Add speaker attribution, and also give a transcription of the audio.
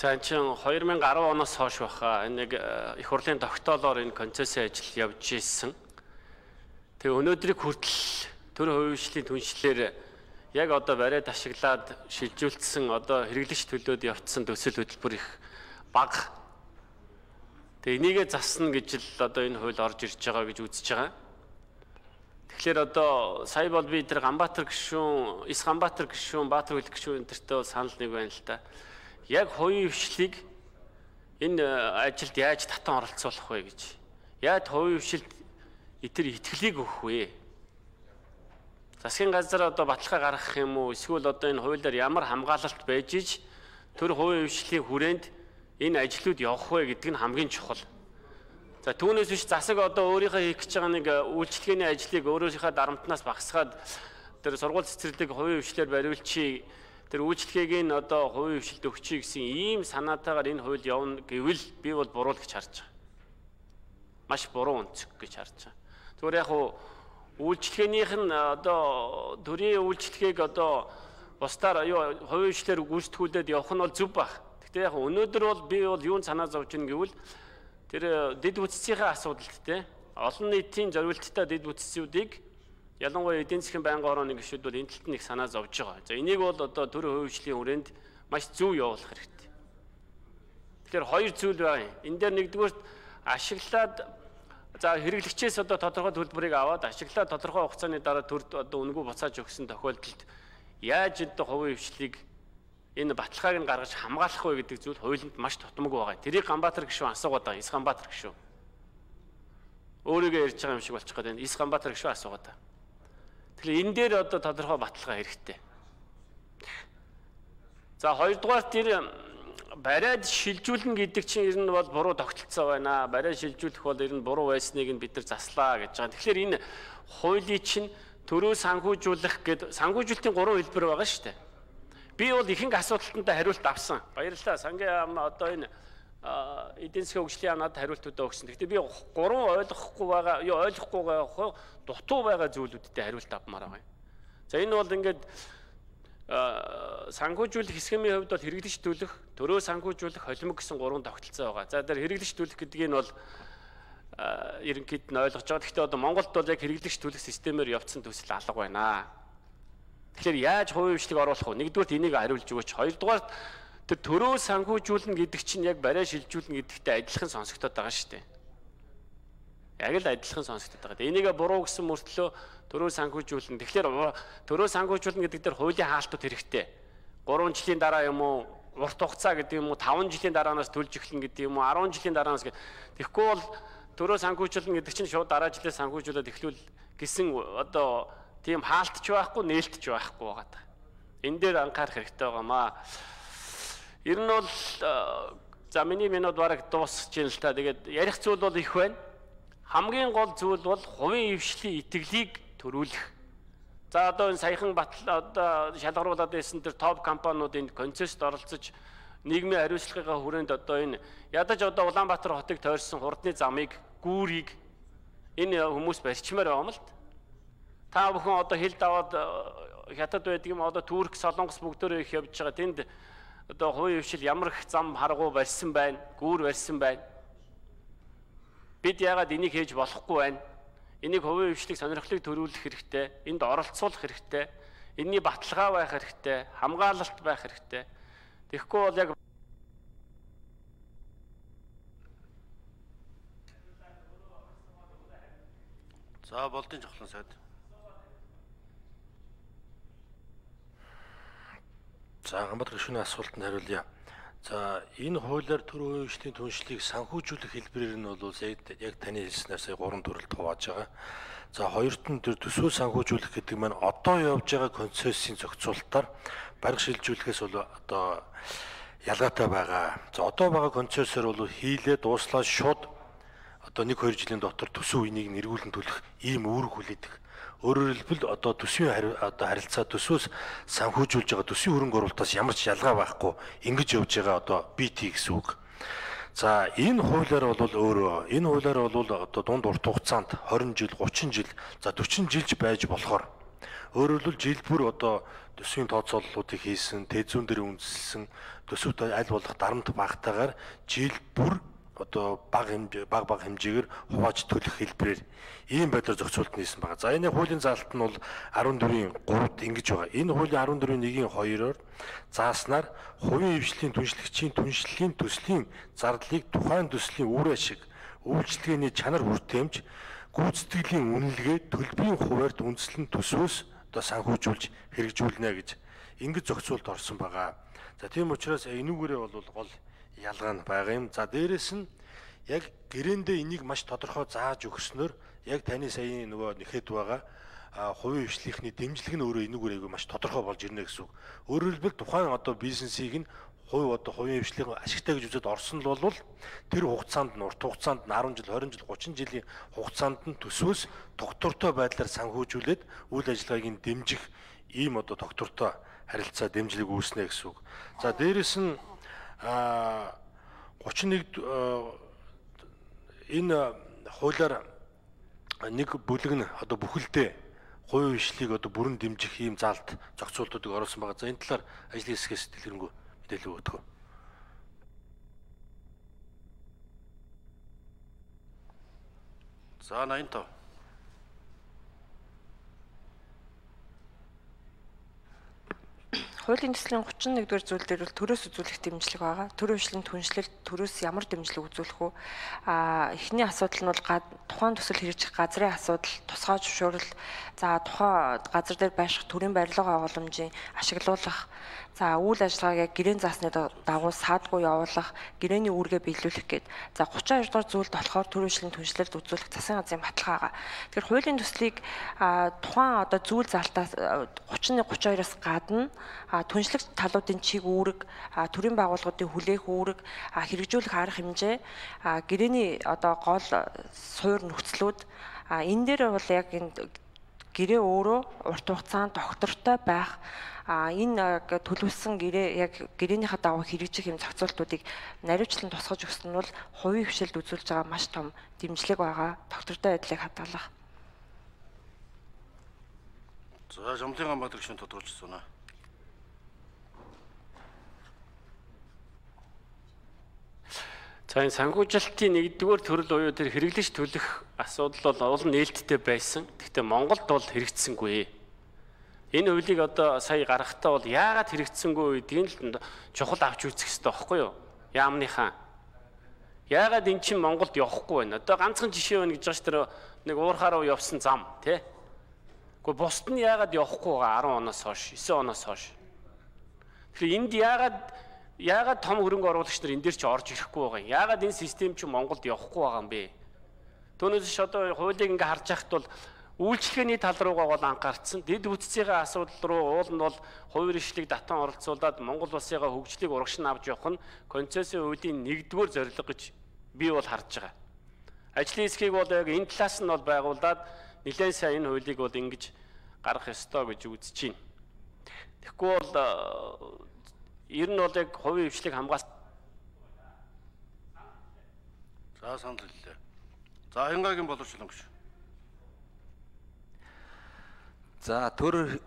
Speaker 1: За энэ чинь 2010 оноос хойш баха энэ нэг их хурлын тогтоолоор энэ концессийн ажил явж ирсэн. Тэгээ өнөөдрийг хүртэл төр хувьчлалын түншлэлээр яг одоо бариад ашиглаад шилжүүлсэн одоо хэрэглэгч төлөөд явцсан төсөл хөтөлбөр их бага. Тэгээ энийгээ засна гэж л одоо энэ хууль орж ирж байгаа гэж үзэж байгаа. Тэгэхээр одоо сая бол би тэр Ганбаатар гишүүн, Эс Ганбаатар гишүүн, Баатар хөлт гишүүн энтертэй санал нэг байна л да. Яг хувийн хвшлийг энэ ажилд яаж татан оролцуулах вэ гэж. Яаж хувийн хвшилд итэр итгэлийг өгөх вэ? Засгийн газар одоо баталгаа гаргах юм уу? Эсвэл одоо энэ хуулиар ямар хамгаалалт байж иж төр хувийн хвшлийн хүрээнд энэ ажлууд явах вэ гэдэг нь хамгийн чухал. За түүнээс биш засаг одоо өөрийнхөө хийх гэж байгаа нэг үйлчлэгээний ажлыг өөрийнхөө дарамтнаас багасгаад тэр сургууль цэцэрлэг хувийн хвшлээр бариулчи тэр үйлчлэгээг нь одоо хувийн хвшилд өгчий гэсэн ийм санаатаагаар энэ хууль явна гэвэл би бол буруу л гэж харж байгаа. Маш буруу өнцөг гэж харж байгаа. Зүгээр яг үйлчлэгээнийх нь одоо төрийн үйлчлэгийг одоо бусдаар хувийн хвшлээр гүйцэтгүүлээд явах нь бол зөв баг. Гэхдээ яг өнөөдөр бол би бол юунд санаа зовж ийн гэвэл тэр дэд бүтцийн асуудалт те олон нийтийн зориулттай дэд бүтцүүдийг ялангуяа эдийн засгийн байнгын орооны гишүүд бол энэ талд нь их санаа зовж байгаа. За энийг бол одоо төр хувийн хүрээнд маш зөв явуулах хэрэгтэй. Тэгэхээр хоёр зүйл байна. Энэ дээр нэгдүгээр ашиглаад за хэрэглэгчээс одоо тодорхой төлбөрийг аваад ашиглаад тодорхой хугацааны дараа төрд одоо үнэгүй буцааж өгсөн тохиолдолд яаж одоо хувийн хвшлийг энэ баталгааг нь гаргаж хамгаалах вэ гэдэг зүйл хуулинд маш тутамг байгаа. Тэрийг Ганбаатар гишүүн асуугаад байгаа. Эс Ганбаатар гишүүн. Өөрийгөө ярьж байгаа юм шиг болчих гээд байна. Эс Ганбаатар гишүүн асуугаад байгаа. Тэгэхээр энэ дээр одоо тодорхой баталгаа хэрэгтэй. За хоёрдугаар тэр бариад шилжүүлнэ гэдэг чинь ер нь бол буруу тогтолцоо байна. Бариад шилжүүлэх бол ер нь буруу байсныг нь бид нар заслаа гэж байгаа. Тэгэхээр энэ хуулийн чинь төрөө санхүүжүүлэх гэдэг санхүүжүүлэлтийн 3 хэлбэр байгаа шүү дээ. Би бол ихэнх асуудалтанд хариулт авсан. Баярлалаа. Сангийн одоо энэ эдийн засгийн хөгжлийн яамнад хариултуудаа өгсөн. Гэхдээ би 3 ойлгохгүй байгаа, дутуу байгаа зүйлүүдтэй хариулт авмаар байгаа юм. За энэ бол ингээд санхүүжүүлэх схемийн хувьд бол хэрэглэгч төлөх, төрөө санхүүжүүлэх, холимог гэсэн 3 тогтолцоо байгаа. За тэр хэрэглэгч төлөх гэдгийг нь бол ерөнхийд нь ойлгож байгаа. Гэхдээ одоо Монголд бол яг хэрэглэгч төлөх системээр явцсан төсөл алга байна. Тэгэхээр яаж хувийн хвшлийг оруулах вэ? Нэгдүгээр энийг хариулж өгөөч. Хоёрдугаар тэр төрөө санхүүжүүлнэ гэдэг чинь яг бариа шилжүүлнэ гэдэгтэй адилхан сонсогдоод байгаа шүү дээ. Яг л адилхан сонсогдоод байгаа. Энийг буруу гэсэн мөртлөө төрөө санхүүжүүлнэ. Тэгэхээр төрөө санхүүжүүлнэ гэдэг дээр хуулийн хаалтууд хэрэгтэй. 3 жилийн дараа юм уу? Урт хугацаа гэдэг юм уу? 5 жилийн дараанаас төлж эхлэн гэдэг юм уу? 10 жилийн дараанаас тэгэхгүй бол төрөө санхүүжүүлнэ гэдэг чинь шууд дараа жилээс санхүүжүүлээд эхлүүл гэсэн одоо тийм хаалтч байхгүй, нээлтч байхгүй байгаа. Энэ дээр анхаарах хэрэгтэй байгаамаа. Ер нь бол за миний минут бараг дуусч ийн л та. Тэгээд ярих зүйл бол их байна. Хамгийн гол зүйл бол хувийн хвшлийн итгэлийг төрүүлэх. За одоо энэ саяхан одоо шалгаруулад байсан тэр топ компаниуд энд концессд оролцож нийгмийн хариуцлагын хүрээнд одоо энэ ядаж одоо Улаанбаатар хотыг тойрсон хурдны замыг, гүүрийг энэ хүмүүс барьчмаар байгаа юм л. Та бүхэн одоо хил даваад хятад байдаг юм одоо Турк, Солонгос бүгдөө их явж байгаа. Тэнд одоо хувийн хвшил ямар их зам харгуу барьсан байна, гүүр барьсан байна. Бид яагаад энийг хийж болохгүй байна? Энийг хувийн хвшлийг сонирхлыг төрүүлэх хэрэгтэй, энд оролцуулах хэрэгтэй, энэний баталгаа байх хэрэгтэй, хамгаалалт байх хэрэгтэй. Тэгэхгүй бол яг за болдын жохлон сайд.
Speaker 2: За Ганбаатар гишүүний асуултанд хариулъя. За энэ хуулиар төр хувийн хвшлийн түншлийг санхүүжүүлэх хэлбэрээр нь бол яг таны хэлснээр сая 3 төрөлд хувааж байгаа. За хоёрт нь тэр төсвөө санхүүжүүлэх гэдэг маань одоо явж байгаа концессийн зохицуулалтаар бараг шилжүүлэхээс бол одоо ялгаатай байгаа. За одоо байгаа концессор бол хийлээ дууслаад шууд одоо 1-2 жилийн дотор төсөв үнийг нэргүүлэн төлөх ийм үүрэг хүлээдэг. Өөрөөр хэлбэл одоо төсвийн харилцаа төсвөөс санхүүжүүлж байгаа төсвийн хөрөнгө оруулалтаас ямар ч ялгаа байхгүй ингэж явж байгаа одоо BT гэсэн үг. За энэ хуулиар бол өөрөө энэ хуулиар бол одоо дунд урт хугацаанд 20 жил, 30 жил, за 40 жилж байж болохоор Өөрөөр хэлбэл жил бүр одоо төсвийн тооцооллуудыг хийсэн, тэзүүн дээр үндэслэн төсөвт аль болох дарамт багтаагаар жил бүр одоо бага хэмжээгээр хувааж төлөх хэлбэрээр ийм байдлаар зохицуулт нийсэн байгаа. За энэ хуулийн заалт нь бол 14-ийн 3-д ингэж байгаа. Энэ хуулийн 14-ийн 1-2-оор зааснаар хувийн хвшлийн түншлэгчийн түншлэлийн төслийн зардлыг тухайн төслийн үр ашиг, үйлчлэгээний чанар хүртээмж, гүйцэтгэлийн үнэлгээ, төлбөрийн хуваарьт үндэслэн төсвөөс одоо санхүүжүүлж хэрэгжүүлнэ гэж ингэж зохицуулт орсон байгаа. За тийм учраас энүүгээрээ бол гол ялгаа нь байгаа юм. За дээрэс нь яг гэрээндээ энийг маш тодорхой зааж өгснөөр яг таны саяны нөгөө нэхэд байгаа хувийн хвшлийнхний дэмжлэг нь өөрөө энүүгээрээ маш тодорхой болж ирнэ гэсэн үг. Өөрөөр хэлбэл тухайн одоо бизнесийг нь хувийн хвшлийн ашигтай гэж үзээд орсон л бол тэр хугацаанд нь урт хугацаанд нь 10 жил, 20 жил, 30 жилийн хугацаанд нь төсвөөс тогтвортой байдлаар санхүүжүүлээд үйл ажиллагааг нь дэмжих ийм одоо тогтвортой харилцаа дэмжлэг үүснэ гэсэн үг. За дээрэс нь 31 энэ хуулиар нэг бүлэг нь одоо бүхэлдээ хувийн хвшлийг одоо бүрэн дэмжих ийм заалт зохицуултуудыг оруулсан байгаа. За энэ талаар ажлын хэсгээс дэлгэрэнгүй мэдээлэл өгөх.
Speaker 3: За 85.
Speaker 4: Хуулийн төслийн 31-р зүйл дээр бол төрөөс үзүүлэх дэмжлэг байгаа. Төрийн хвшлийн түншлэлт төрөөс ямар дэмжлэг үзүүлэх вэ? Эхний асуудал нь бол тухайн төсөл хэрэгжих газрын асуудал, тусгай зөвшөөрөл, за тухайн газар дээр байрших төрийн барилга агуулмжийн ашиглуулах, за үйл ажиллагааг гэрээний заасны дагуу саадгүй явуулах, гэрээний үүргээ биелүүлэх гээд. За 32 дугаар зүйлд болохоор төрийн хвшлийн түншлэлт үзүүлэх засгийн газрын баталгаа байгаа. Тэгэхээр хуулийн төслийг тухайн одоо зүйл залтаас 31-32-аас гадна түншлэгч талуудын чиг үүрэг, төрийн байгууллагуудын хүлээх үүрэг, хэрэгжүүлэх арга хэмжээ, гэрээний одоо гол суур нөхцлүүд энэ дээр бол яг энэ гэрээ өөрөө урт хугацаанд доктортой байх, энэ төлөвлөсөн гэрээ яг гэрээнийхээ дагуу хэрэгжих юм зохицуултуудыг наривчлан тусгаж өгсөн нь бол хувийн хвшилд үзүүлж байгаа маш том дэмжлэг байгаа, доктортой байдлыг хадгалах.
Speaker 3: За Жамлын Ганбаатар гишүүн тодорхойлж байна.
Speaker 1: За энэ санхүүжилтийн 1-р төрөл буюу тэр хэрэглэж төлөх асуудал бол олон нээлттэй байсан. Гэхдээ Монголд бол хэрэгжсэнгүй. Энэ хуулийг одоо сая гаргахтаа бол яагаад хэрэгжсэнгүй гэдгийг л чухал авч үзэх хэрэгтэй байхгүй юу? Яамныхаа. Яагаад эн чинь Монголд явахгүй байна? Одоо ганцхан жишээ байна гэж байгаа ш тэр нэг уурхаараа явсан зам тий. Гэхдээ бусд нь яагаад явахгүй байгаа 10 оноос хойш, 9 оноос хойш. Тэгэхээр энд яагаад том хөрөнгө оруулагч нар энэ дээр ч орж ирэхгүй байгаа юм? Яагаад энэ систем чинь Монголд явахгүй байгаа юм бэ? Түүнээс ч одоо хуулийг ингээ харж байхад бол үйлчлэгээний тал руугаа бол анхаарсан. Дэд бүтцийн асуудал руу уул нь бол хувийн хвшлийг татан оролцуулаад Монгол улсынхаа хөгжлийг урагшин авч явах нь концессийн хуулийн 1-р зорилго гэж би бол харж байгаа. Ажлын хэсгийг бол яг энэ талаас нь бол байгуулад нэлээд сайн энэ хуулийг бол ингэж гаргах ёстой гэж үзэж байна. Тэгэхгүй бол ер нь бол яг хувийн хвшлийг хамгаалсан.
Speaker 3: За санал хэллээ. За Хянгагийн боловсруулагч.
Speaker 5: За төр